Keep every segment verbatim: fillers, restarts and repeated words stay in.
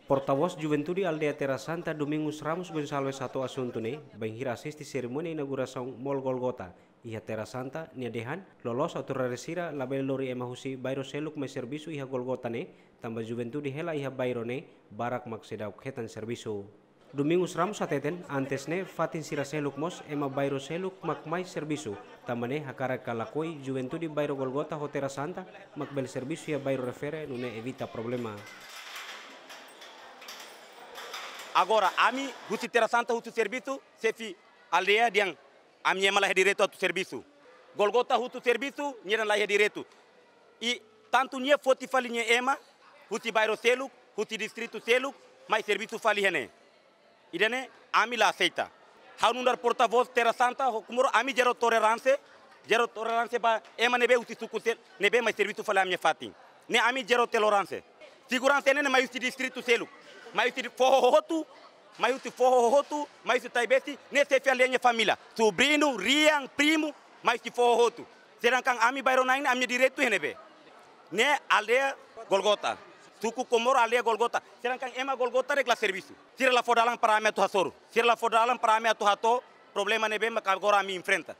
Portavós Juventude Aldeia Terra Santa, Domingos Ramos Gonçalves, hato'o asuntu ne'e bainhira asiste serimónia inaugurasaun Mall Golgota iha Terra Santa nia dehan, loloos autoridade sira labele lori ema husi bairru seluk mai servisu iha Golgota ne'e, tanba juventude hela iha bairru ne'e barak mak seidauk hetan servisu. Domingos Ramos hateten, antes ne'e fatin sira seluk mós ema bairru seluk mak mai servisu, tanba ne'e hakarak ka lakohi juventude bairru Golgota ho Terra Santa mak bele servisu iha bairru refere nune'e evita problema. Agora, ami husi Terra Santa husu servisu, xefe aldeia dehan ami ema la iha direitu atu servisu. Golgota husu servisu, nia dehan la iha direitu. I tantu nia foti fali nia ema husi bairru seluk, husi distritu seluk, mai servisu fali iha ne'e. Ida-ne'e ami la aseita. Ha'u nu'udar portavós Terra Santa ho Comoro, ami zero toleránsia, zero toleránsia ba ema ne'ebé husi suku sel-, ne'ebé mai servisu fali ami-nia fatin. Ne'e ami zero toleránsia. Seguransa ne'e mai husi distritu seluk, mai husi foho hotu, mai husi foho hotu, mai husi Taibesi, ne'e xefe aldeia nia família, sobriñu, rian, primu, mai husi foho hotu. Sedangkan ami bairru na'in, ami direitu iha ne'ebé? Ne'e aldeia Golgota. Suku Comoro aldeia Golgota. Sedangkan ema Golgota la iha servisu. Sira la fó dalan para ami atu hasoru. Sira la fó dalan para ami atu hato'o problema ne'ebé mak agora ami enfrenta.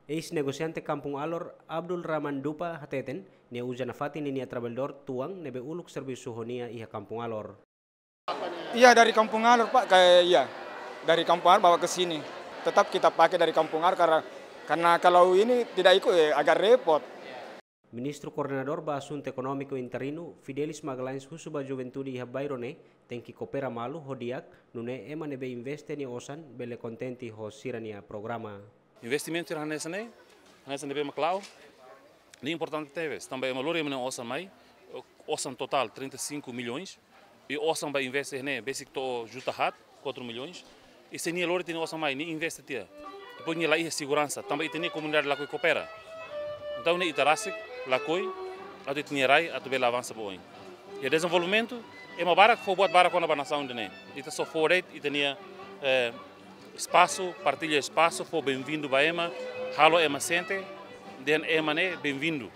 Eis-negosiante Kampung Alor, Abdul Rahman Dupa, hateten, nia uza nafatin ninia trabalhadór tuan ne'ebé uluk servisu ho nia iha Kampung Alor. Iya, dari Kampung Alor, Pak, kayak, iya. Dari Kampung Alor bawa ke sini. Tetap kita pakai dari Kampung Alor karena, karena kalau ini tidak ikut, eh, agak repot. Ministru Koordenadór ba Asuntu Ekonómiku interinu, Fidelis Magalhães, husu ba juventude iha bairru ne'e tenke koopera malu ho di'ak, nune'e ema ne'ebé investe nia osan bele kontente ho sira-nia programa. Investimentu sira hanesan ne'e, hanesan ne'ebé mak la'o, ne'e importante tebes, tanba ema lori ema nia osan mai, osan totál trinta e cinco milhões, i osan ba investe ne'e, besik to'o juta haat, quatro milhões, i se nia lori ita-nia osan mai, nia investe tiha. Depois nia la iha seguransa, tanba ita-nia komunidade lakohi koopera. Entaun ne'e ita rasik lakohi, atu ita-nia rai, atu bele avansa ba oin. I dezenvolvimentu, ema barak fó buat barak kona-ba nasaun ida-ne'e. Ita só fó de'it ita-nia, eh, espasu, partilla espasu, fó benvindu ba ema, halo ema sente, dehan ema ne'e benvindu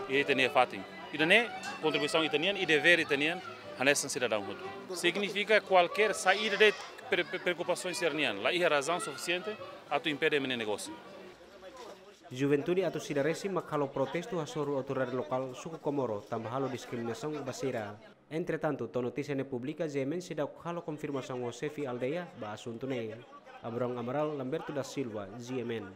iha ita-nia fatin. Ida-ne'e kontribuisaun ita-nian i devér ita-nian hanesan sidadaun hotu. Signifika kualkér saida de'it pre-, pre-, preokupasaun sira-nian, la iha razaun sufisiente atu impede ema nia negósiu. Juventude atus ida resin mak halo protestu hasoru autoridade lokál suku Comoro tanba halo diskriminasaun ba sira. Entretantu, to'o notísia ne'e publika, G M N seidauk halo konfirmasaun ho xefe aldeia ba asuntu ne'e. Abrão Amaral, Lamberto da Silva, G M N.